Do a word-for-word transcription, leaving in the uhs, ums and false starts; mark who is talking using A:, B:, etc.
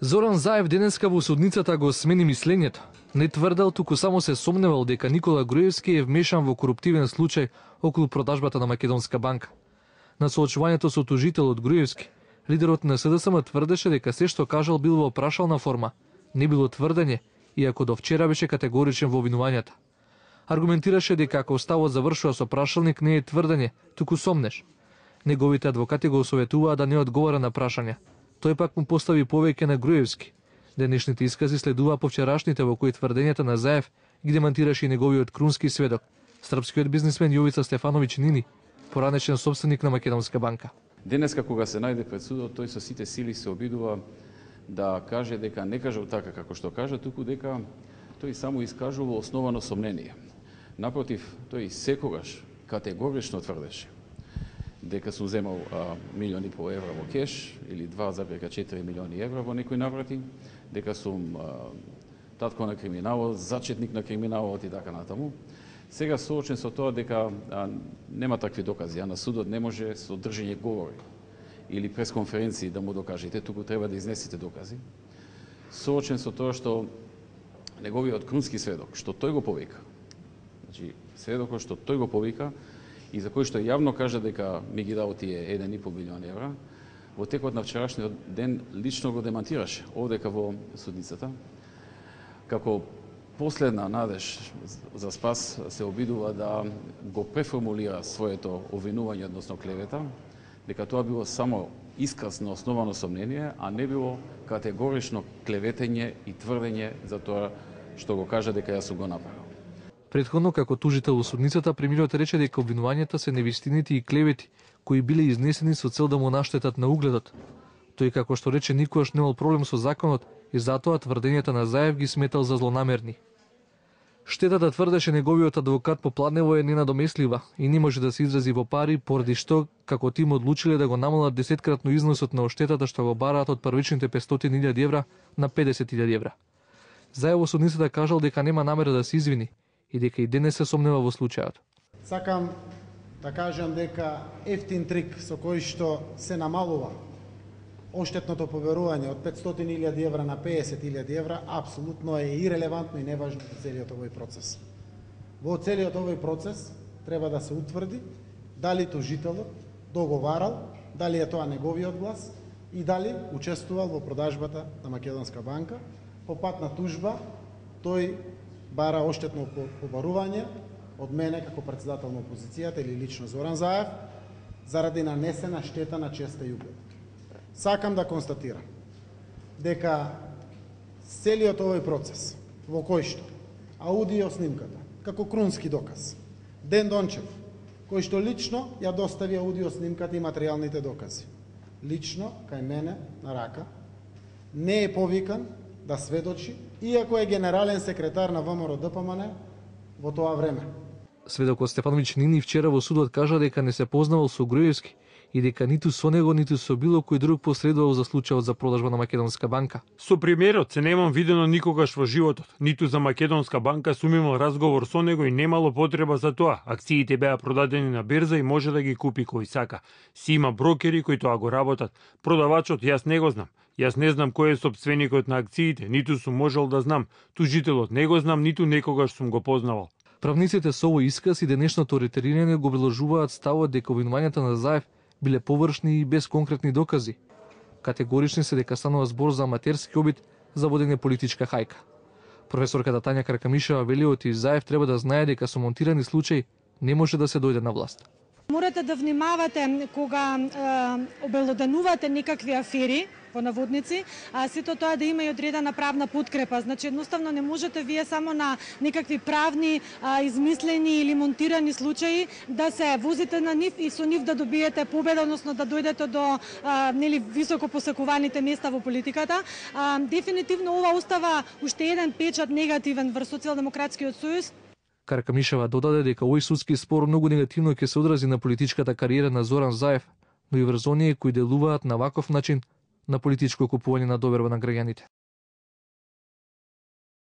A: Зоран Заев денеска во судницата го смени мислењето. Не тврдел, туку само се сомневал дека Никола Груевски е вмешан во коруптивен случај околу продажбата на Македонска банка. На соочувањето со тужителот Груевски, лидерот на СДСМ тврдеше дека се што кажал бил во прашална форма, не било тврдење, иако до вчера беше категоричен во обвинувањата. Аргументираше дека ако ставот завршува со прашалник не е тврдење, туку сомнеш. Неговите адвокати го советуваа да не одговара на прашања. Тој пак му постави повеќе на Груевски. Денешните искази следуваа по вчерашните во кои тврдењата на Заев ги демантираше и неговиот крунски сведок, српскиот бизнисмен Јовица Стефановиќ Нини, поранешен собственик на Македонска банка.
B: Денеска кога се најде пред судот, тој со сите сили се обидува да каже дека не кажал така како што кажа, туку дека тој само искажува основано сомнение. Напротив, тој секогаш категорично тврдеше дека сум земал а, милиони по евра во кеш или два зарез четири милиони евра во некои наврати, дека сум а, татко на криминалот, зачетник на криминалот и така натаму. Сега соочен со тоа дека а, нема такви докази, а на судот не може со држење говори или пресконференции да му докажете, туку треба да изнесете докази. Соочен со тоа што неговиот крунски сведок, што тој го повика, значи сведокот што тој го повика и за кој што јавно кажа дека ми ги дал тие еден и пол милион евра, во текот на вчерашниот ден лично го демантираше овдека во судницата. Како последна надеж за спас се обидува да го преформулира своето обвинување, односно клевета, дека тоа било само исказ на основано сомнение, а не било категорично клеветење и тврдење за тоа што го кажа дека јас сум го направил.
A: Претходно, како тужител во судницата, премиерот рече дека обвинувањата се невистините и клевети, кои биле изнесени со цел да му наштетат на угледот. Тој, како што рече, никогаш немал проблем со законот и затоа тврдењата на Заев ги сметал за злонамерни. Штетата, тврдеше неговиот адвокат Попладнево, е ненадомеслива и не може да се изрази во пари, поради што, како тим, одлучиле да го намалат десеткратно износот на оштетата што го бараат од првичните петстотини илјади евра на педесет илјади евра. Заев во судницата кажал дека нема намера да се извини и дека и денес се сомнева во случајот.
C: Сакам да кажам дека ефтин трик со кој што се намалува оштетното поверување од петстотини илјади евра на педесет илјади евра апсолутно е ирелевантно и неважно во целиот овој процес. Во целиот овој процес треба да се утврди дали тужителот договарал, дали е тоа неговиот глас и дали учествувал во продажбата на Македонска банка. По пат на тужба тој бара оштетно побарување од мене како председател на опозицијата или лично Зоран Заев заради нанесена штета на честа и углед. Сакам да констатирам дека целиот овој процес во кој што аудио снимката како крунски доказ, Ден Дончев, кој што лично ја достави аудио снимката и материјалните докази, лично кај мене на рака, не е повикан да сведочи, иако е генерален секретар на ВМРО Д П М Н во тоа време.
A: Сведокот Стефановиќ Нини вчера во судот кажа дека не се познавал со Груевски и дека ниту со него, ниту со било кој друг посредувал за случајот за продажба на Македонска банка.
D: Со премиерот се немам видено никогаш во животот, ниту за Македонска банка сум имал разговор со него и немало потреба за тоа. Акциите беа продадени на берза и може да ги купи кој сака. Си има брокери кои тоа го работат. Продавачот јас не го знам. Јас не знам кој е сопственикот на акциите, ниту сум можел да знам. Тужителот не го знам, ниту некогаш сум го познавал.
A: Правниците со овој исказ и денешното ретерирање го приложуваат ставот дека обвинувањата на Заев биле површни и без конкретни докази. Категорични се дека станува збор за аматерски обид за водење политичка хајка. Професорката Тања Каркамишева вели оти Заев треба да знае дека со монтирани случаи не може да се дојде на власт.
E: Морате да внимавате кога е, обелоданувате некакви афери, по наводници, а сето тоа да има и одредена правна подкрепа. Значи, едноставно не можете вие само на некакви правни, а, измислени или монтирани случаи да се возите на нив и со нив да добиете победа, односно да дојдете до а, нели високо посекуваните места во политиката. А, дефинитивно ова остава уште еден печат негативен врз Социјалдемократскиот сојуз.
A: Каркамишева додаде дека овој судски спор многу негативно ќе се одрази на политичката кариера на Зоран Заев, но и врз оние кои делуваат на ваков начин на политичко купување на доверба на граѓаните.